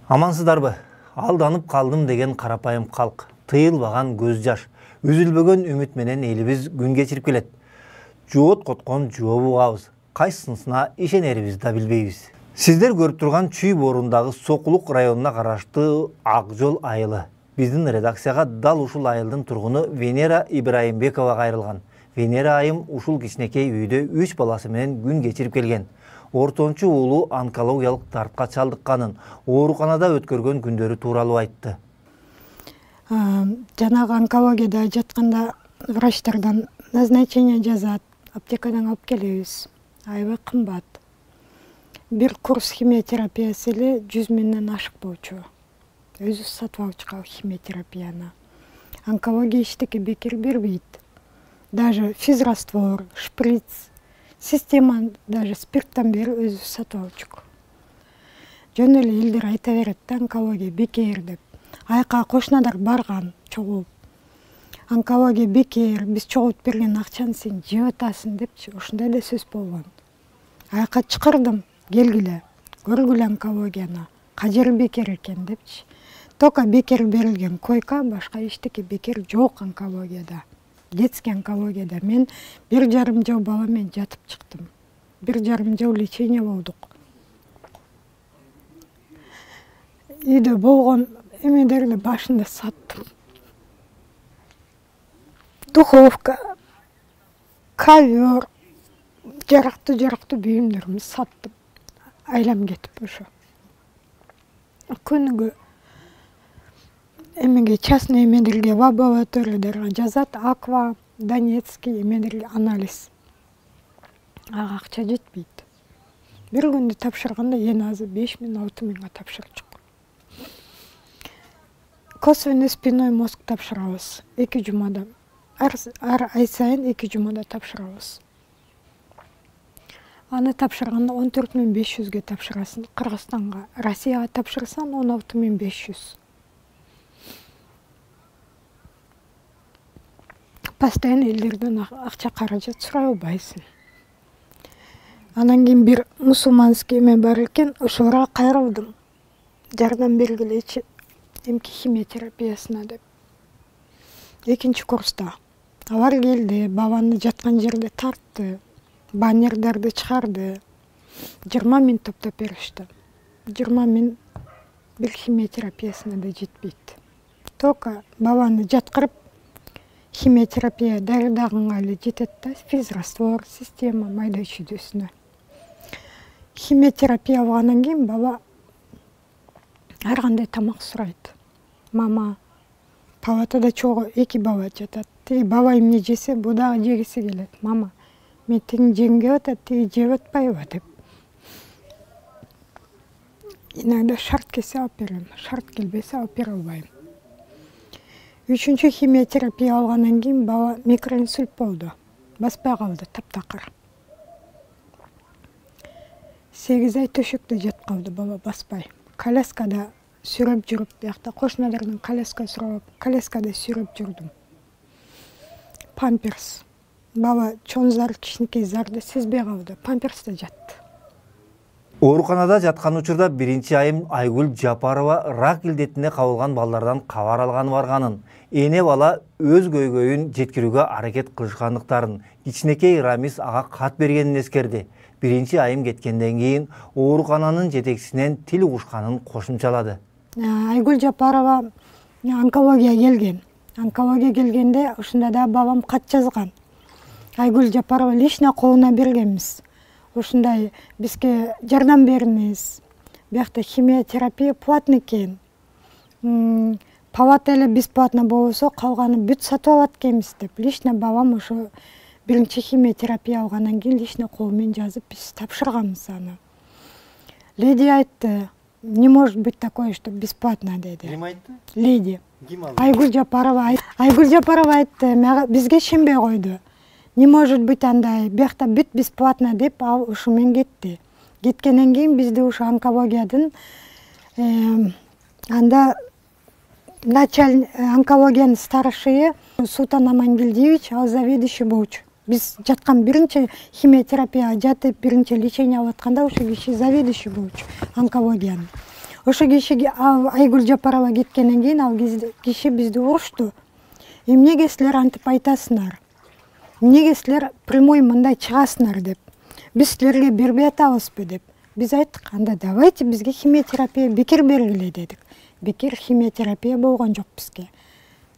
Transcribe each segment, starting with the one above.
Амансыздарбы? Алданып калдым деген карапайым калк, тыйылбаган көз жаш, үзүлбөгөн үмүт менен элибиз күн кечирип келет. Жоот коткон жооп угабыз, кайсысына ишенерибизди да билбейбиз. Сиздер көрүп турган Чүй Борундагы Сокулук районуна караштуу Ак Жол айылы. Биздин редакцияга дал ушул айылдын тургуну Венера Ибраимбекова кайрылган. Венера айым ушул кичинекей үйдө 3 баласы менен күн кечирип келген. Ортончу уулу онкологиялык дартка чалдыкканын, ооруканада өткөргөн күндөрү тууралуу айтты. Жанагы онкологияда жатканда врачтардан назначение жазат, аптекадан алып келебиз. Аябай кымбат. Бир курс химиотерапиясы эле 100 миңден ашык болчу. Өзү сатып алып чыккан химиотерапияны. Онкология эчтеке бекер бербейт. Даже физраствор, шприц, система даже спирттан бери өзү сатып алып чык. Жөн эле элдер айта берет да, онкология бекер деп. Айка кошунадар барган чогулуп. Онкология бекер, биз чогултуп берген акчаны сен жеп атасың депчи, ушундай да сөз болгон. Айка чакырдым, келгиле, көргүлө онкологияны, кажери бекер экен депчи. Только бекер берилген койка, башка эчтеке бекер жок онкологияда. Детский онкологияда мен 1,5 жыл бала менен жатып чыктым. 1,5 жыл лечение болдук. Үйдө болгон эмедерди башында саттым. Духовка, ковер, жарактуу бүйүмдөрүмдү саттым. Айлам кетип ошо. Күнүгө эмеге частный эмедерге в лабораторияларга жазат, Аква, Донецкий эмедерге анализ. Ага акча жетпейт. Бир күндү тапшырганда эң азы 5 миң, 6 миңга тапшырып чык. Косвенный спинной мозг тапшырабыз 2 жумада. Ар ай сайын 2 жумада тапшырабыз. Аны тапшырганда 14.500ге тапшырасың Кыргызстанга. Россияга тапшырсаң 16.500. Постоянно элдерден акча каражат сурай албайсың. Анан кийин бир мусулманский эме бар экен, ошолорго кайрылдым. Жардам бергилечи эмки химиотерапиясына деп. 2 курста. Алар келди, бабаны жаткан жерде тартты, баннерлерди чыгарды. 20 миң топтоп беришти. 20 миң бир химиотерапиясына да жетпейт. Только бабаны жаткырып химиотерапия дарыдагынга эле жетет да, физраствор, система майда чүйдөсүнө. Химиотерапия алгандан кийин бала ар кандай тамак сурайт. Мама, палатада чогуу 2 бала жатат. Тиги бала эмне жесе, бу дагы жегиси келет. Мама, мен тиги жегим келип атат, тиги жеп атпайбы деп. Иногда шарт келсе алып берем, шарт келбесе алып бере албайм. 3-чү химиотерапия алгандан кийин бала микроинсульт болду. Баспай калды таптакыр. 8 ай төшөктө жатып калды бала, баспай. Коляскада сүрөп жүрүп, биякта кошуналардан коляска сурап, коляскада сүрөп жүрдүм. Памперс. Бала чоң зар, кичинекей зарды сезбей калды. Памперсте жатты. Ооруканада жаткан учурда 1-айым Айгүл Жапарова рак илдетине кабылган балдардан кабар алганы барганын, эне бала өз көйгөйүн жеткирүүгө аракет кылышкандыктарын, кичинекей Рамис ага кат бергенин эскерди. 1-айым кеткенден кийин оорукананын жетекчисинен тил угушканын кошумчалады. Айгүл Жапарова онкология келген. Онкология келгенде ушунда да бабам кат жазган. Айгүл Жапарова лично колуна бергенбиз. Ушундай бизге жардам бериңиз. Биякта химиотерапия платный экен. Палата эле бесплатно болсо, калганы бүт сатып алат экенбиз деп. Лично бабам ошо 1-чи химиотерапия алгандан кийин лично кол менен жазып биз тапшырганбыз аны. Леди айтты, не может быть такое, что бесплатно деди. Ким айтты? Леди. Ким алды? Айгүл Жапарова айтты, бизге шенбей койду. Не может быть андай, биякта бүт бесплатно деп ал ушу менен кетти. Кеткенден кийин бизди ушу онкологиядын анда онкологиянын старшие Султан Амангелдиевич, ал заведующий болчу. Биз жаткан 1-чи химиотерапияга жатып, 1-чи лечение алып атканда ошо киши заведующий болчу онкологиянын. Ошо киши Айгүл Жапарова кеткенден кийин ал киши бизди урушту. Эмнеге силер антип айтасыңар? Эмнеге силер прямой мындай чыгасыңар деп. Биз силерге бербей атабызбы деп. Биз айттык, анда давайте бизге химиотерапия бекер бергиле дедик. Бекер химиотерапия болгон жок бизге.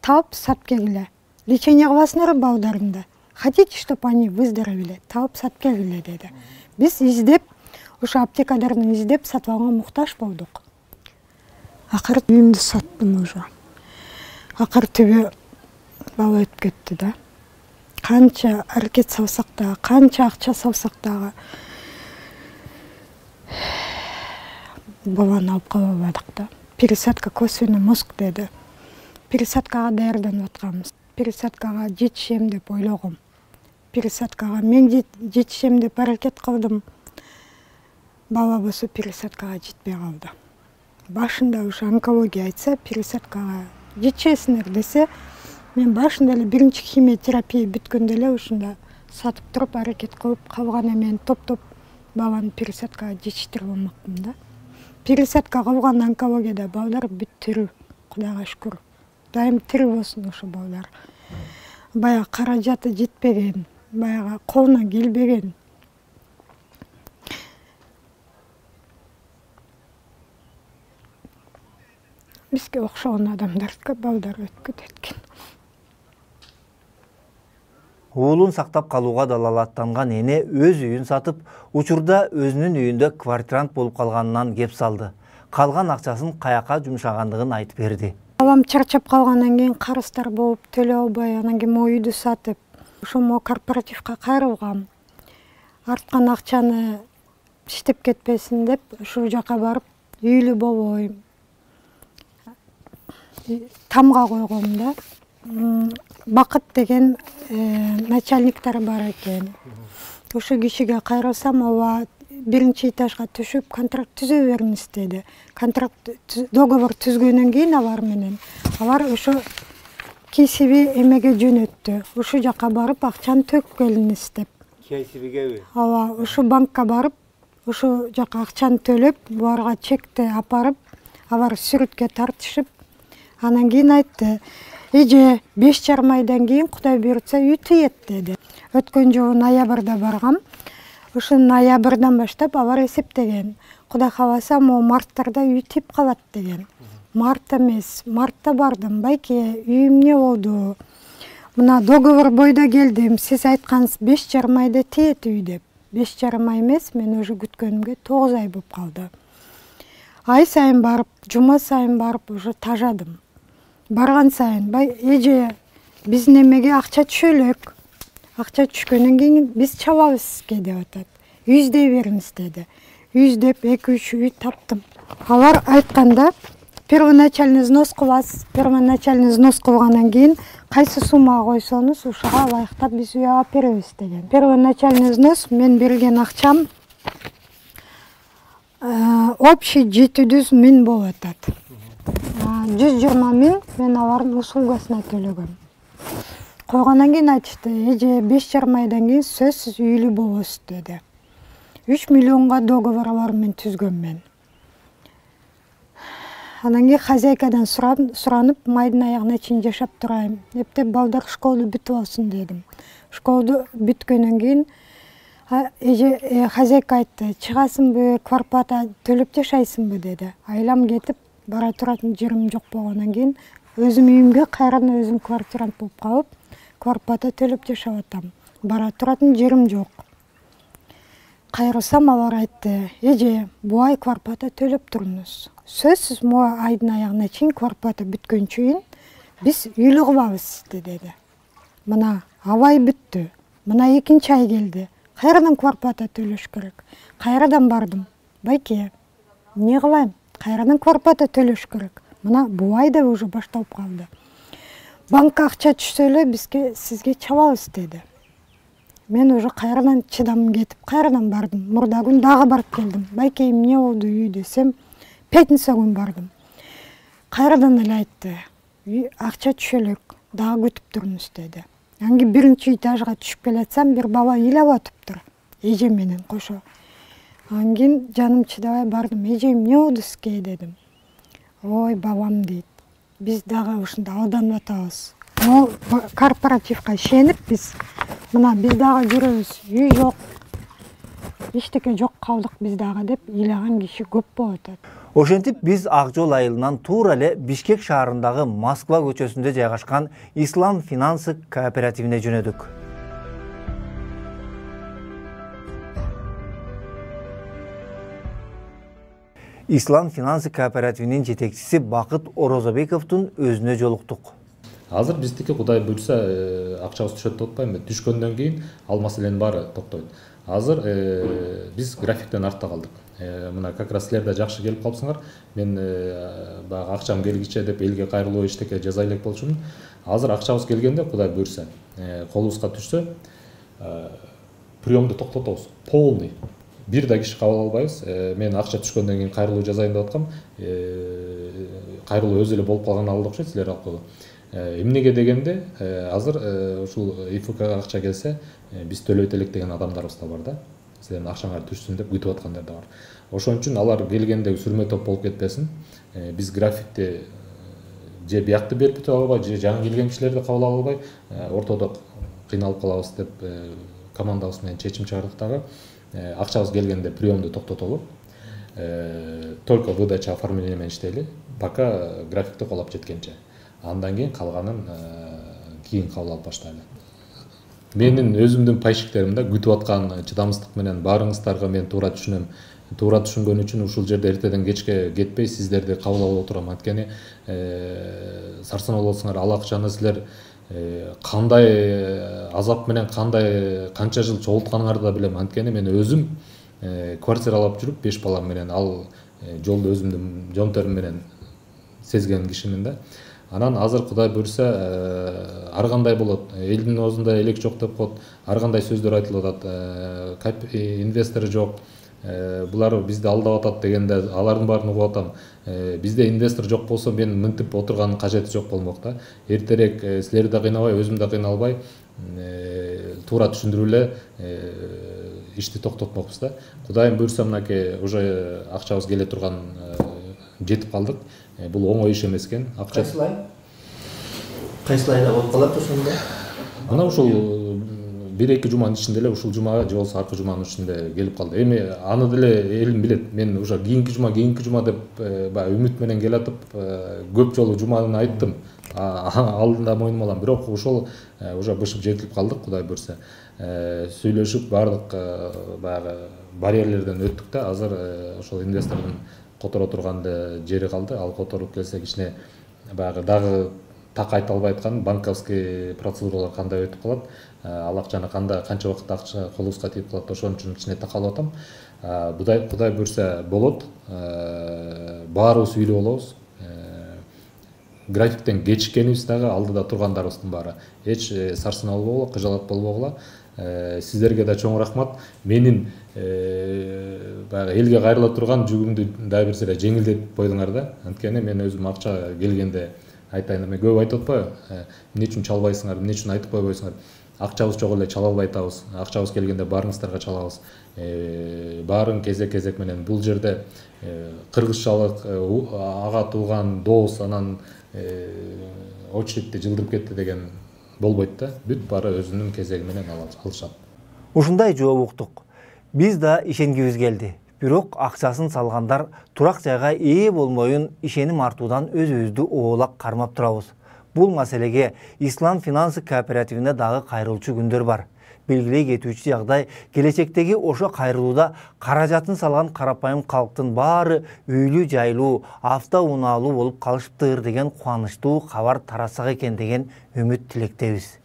Таап сатып келгиле. Лечение кыласыңар балдарымды. Хотите, чтобы они выздоровели? Таап сатып келгиле деди. Биз издеп, ошо аптекалардан издеп сатып алганга муктаж болдук. Акыры үйүмдү саттым уже. Акыры түбү бала өтүп кетти да. Канча аракет салсак дагы, канча акча салсак дагы баланы алып кала албадык да. Пересадка косвенный мозг деди. Пересадкага даярданып атканбыз. Пересадкага жетишем деп ойлогом. Пересадкага мен жетишем деп аракет кылдым. Бала болсо пересадкага жетпей калды. Башында ушу онкология айтса, пересадкага жетишесиңер десе, мен башында эле биринчи химиотерапия бүткөндө эле ушунда сатып туруп аракет кылып калган эмен топтоп баланы пересадкага жетиштирип алмакмын да. Пересадка кылган онкологияда балдар бүт тирүү, Кудайга шүкүр. Дайым тирүү болсун ошо балдар. Баягы каражаты жетпеген, баягы колуна келбеген. Бизге окшогон адамдарга балдар өтүп кетет экен. Уулун сактап калууга далалаттанган эне өз үйүн сатып, учурда өзүнүн үйүндө квартирант болуп калганынан кеп салды. Калган акчасын каяка жумшагандыгын айтып берди. Балам чарчап калгандан кийин карыздар болуп төлөй албай, анан кийин могу үйдү сатып, ошо могу корпоративге кайрылгам. Арткан акчаны иштеп кетпесин деп, ушул жака барып, үйлүү болбойм. Тамга койгом да. Бакыт деген начальниктер бар экен. Ошо кишиге кайрылсам, ооба биринчи этажга түшүп контракт түзө бериңиз деди. Договор түзгөндөн кийин алар менен алар ошо кесиби эмеге жөнөттү. Ошол жака барып акчаны төгүп келиңиз деп. Кесибигеби? Ооба, ошо банкка барып, ошо жака акчаны төлөп, буларга чекти апарып, алар сүрөткө тартышып, анан кийин айтты: "Эже, 5,5 айдан кийин Кудай буйртса үй тиет" деди. Өткөн жылы ноябрда баргам. Ошо ноябрдан баштап алар эсептеген. Кудай кааласа, могу марттарда үй тип калат деген. Март эмес, мартта бардым. Байке, үй эмне болду? Мына договор бойдо келдим. Сиз айткансыз 5,5 айда тиет үй деп. 5,5 ай эмес, мен уже күткөнүмгө 9 ай болуп калды. Ай сайын барып, жума сайын барып уже тажадым. Барган сайын, эже, биздин эмеге акча түшө элек. Акча түшкөндөн кийин биз чабабыз сизге деп атат. Үй издей бериңиз деди. Үй издеп 2-3 үй таптым. Алар айтканда первоначальный взнос кыласыз. Первоначальный взнос кылгандан кийин кайсы суммага койсоңуз, ушуга ылайыктап биз үй алып беребиз деген. Первоначальный взнос мен берген акчам общий 700 000 болуп атат. 120 000 мен алардын услугасына төлөгөм. Койгондон кийин айтышты: "Эже, 5,5 айдан кийин сөзсүз үйлүү болосуз" деди. 3 миллионго договор алар менен түзгөм мен. Анан кийин хозяйкадан суранып, майдын аягына чейин жашап турайм. Эптеп балдар школду бүтүп алсын дедим. Школду бүткөндөн кийин эже хозяйка айтты: "Чыгасыңбы, квартплата төлөп жашайсыңбы" деди. Айлам кетип, бара туратын жерим жок болгондон кийин өзүм үйүмгө кайрадан өзүм квартирант болуп калып, квартплата төлөп жашап атам. Бара туратын жерим жок. Кайрылсам, алар айтты: "Эже, бу ай квартплата төлөп туруңуз. Сөзсүз могу айдын аягына чейин квартплата бүткөнчө чейин биз үйлүү кылабыз сизди" деди. Мына абай бүттү. Мына экинчи ай келди. Кайрадан квартплата төлөш керек. Кайрадан бардым. Байке, эмне кылайм? Кайрадан квартплата төлөш керек. Мына бул айда уже башталып калды. Банкка акча түшсө эле бизге сизге чабабыз деди. Мен уже кайрадан чыдамым кетип, кайрадан бардым. Мурда күн дагы барып келдим. Байке, эмне болду үй десем, пятница күн бардым. Кайрадан эле айтты: "Акча түшө элек, дагы күтүп туруңуз" деди. Анан кийин биринчи этажга түшүп келатсам, бир бала ыйлап атыптыр. Эже менен кошо. Анан кийин жаным чыдабай бардым. "Эже, эмне болду сизге" дедим. ой бабам дейт. Биз дагы ушунда алданып атабыз. Могу корпоративге ишенип биз дагы жүрөбүз. Үй жок, эчтеке жок калдык биз дагы деп ыйлаган киши көп болуп атат. Ошентип биз Ак Жол айылынан туура эле Бишкек шаарындагы Москва көчөсүндө жайгашкан Ислам финансы кооперативине жөнөдүк. Ислам финансы кооперативинин жетекчиси Бакыт Орозобековдун өзүнө жолуктук. Азыр биздики Кудай буйрса акчабыз түшөт деп атпайбы. Түшкөндөн кийин ал маселенин баары токтойт. Азыр биз графиктен артта калдык. Мына как раз силер да жакшы келип калыпсыңар. Мен баягы акчам келгиче деп элге кайрылуу эчтеке жаза элек болчумун. Азыр акчабыз келгенде Кудай буйрса, колубузга түшсө, приемду токтотобуз. Полный. Бир да киши кабыл албайбыз. Мен акча түшкөндөн кийин кайрылуу жазайын деп аткам. Кайрылуу өзү эле болуп калган алды окшойт, силер алкылуу. Эмнеге дегенде, азыр ушул ИФКга акча келсе, биз төлөйт элек деген адамдарыбыз да бар да. Силердин акчаңар түшсүн деп күтүп аткандар да бар. Ошон үчүн алар келгенде сүрмө топ болуп кетпесин. Биз графикти же биякты берип бүтүп албай, же жаңы келген кишилерди кабыл ала албай, ортодо кыйналып калабыз деп командабыз менен чечим чыгардык дагы. Акчабыз келгенде приемду токтотолу. Только выдача оформление менен иштейли, пока графикти колоп жеткенче. Андан кийин калганын кийин кабыл алып баштайлы. Менин өзүмдүн пайшиктерим да күтүп аткан чыдамсыздык менен баарыңыздарга мен туура түшүнөм. Туура түшүнгөн үчүн ушул жерде эртеден кечке кетпей сиздерди кабыл алып отурам. Анткени сарсанаа болсоңар ал акчаны силер кандай азап менен канча жыл чогултканыңарды да билем. Анткени мен өзүм квартиралап жүрүп 5 балам менен ал жолду өзүмдүн жонтерим менен сезген кишимин да. Анан азыр Кудай буйрса ар кандай болот. Элдин оозунда элек жок деп коет. Ар кандай сөздөр айтылып атат. Инвестор жок. Булар бизди алдап атат дегенде алардын баарын угуп атам. Бизде инвестор жок болсо мен мынтип отурганын кажети жок болмок да. Эртерээк силерди да кыйнабай, өзүм да кыйналбай туура түшүндүрүп эле ишти токтотмокпуз да. Кудайым буйрса мынакей уже акчабыз келе турган жетип калдык. Бул оңой иш эмес экен. Кайсы айда болуп калат ошондо? Мына ушул 1-2 жуманын ичинде эле ушул жумага же болбосо аркы жуманын ичинде келип калды. Эми аны деле элим билет. Мен уже кийинки жума деп баягы үмүт менен келатып көп жолу жуманы айттым. Алдында мойнума алам. Бирок ошол уже бышып жетилип калдык, Кудай буйрса. Сүйлөшүп бардык баягы барьерлерден өттүк да. Азыр ошол инвестордун которо турган жери калды. Ал которуп келсе кичине баягы дагы так айта албай аткан банковский процедуралар кандай өтүп калат, ал акчаны канча убакытта акча колубузга тийип калат, ошон үчүн кичине такалып атам. Кудай буйрса болот. Баарыбыз үйлүү болобуз. Графиктен кечиккенибиз дагы алдыда тургандарыбыздын баары. Эч сарсанаа болбогула, кыжалат болбогула. Сиздерге да чоң рахмат. Менин баягы элге кайрыла турган жүгүмдү дагы бир сыйра жеңилдетип койдуңар да. Анткени мен өзүм акча келгенде айтайын, мен көп айтып атпайбы? Эмне үчүн чалбайсыңар, эмне үчүн айтып койбойсуңар? Акчабыз жок эле чала албай атабыз. Акчабыз келгенде баарыңыздарга чалабыз. Баарын кезек менен бул жерде кыргызчалык, ага тууган дос, анан очередьте жылдырып кетти деген болбойт да. Бүт баары өзүнүн кезеги менен алышат. Ушундай жооп уктук. Биз да ишенгибиз келди. Бирок акчасын салгандар турак жайга ээ болмоюн ишеним артуудан өзүбүздү оолак кармап турабыз. Бул маселеге Ислам финансы кооперативине дагы кайрылчу күндөр бар. Белгилей кетүүчү жагдай, келечектеги ошо кайрылууда каражатын салган карапайым калктын баары үйлүү жайлуу, автоунаалуу болуп калышыптыр деген кубанычтуу кабар таратсак экен деген үмүт тилектебиз.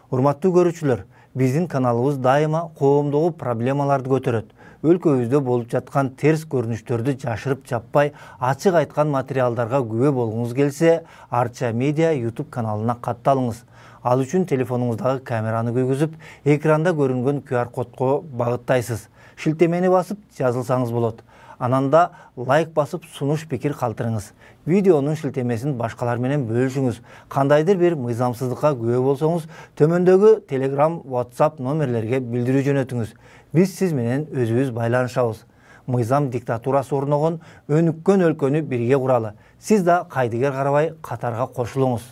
Урматтуу көрүүчүлөр, биздин каналыбыз дайыма коомдогу проблемаларды көтөрөт. Өлкөбүздө болуп жаткан терс көрүнүштөрдү жашырып жаппай, ачык айткан материалдарга күбө болгуңуз келсе, Арча Медиа YouTube каналына катталыңыз. Ал үчүн телефонуңуздагы камераны күйгүзүп, экранда көрүнгөн QR кодго багыттайсыз. Шилтемени басып жазылсаңыз болот. Анан да лайк басып сунуш пикир калтырыңыз. Видеонун шилтемесин башкалар менен бөлүшүңүз. Кандайдыр бир мыйзамсыздыкка күбө болсоңуз, төмөндөгү Telegram, WhatsApp номерлерге билдирүү жөнөтүңүз. Биз сиз менен өзүбүз байланышабыз. мыйзам диктатурасы орногон өнүккөн өлкөнү бирге куралы. Сиз да кайдыгер карабай катарга кошулуңуз.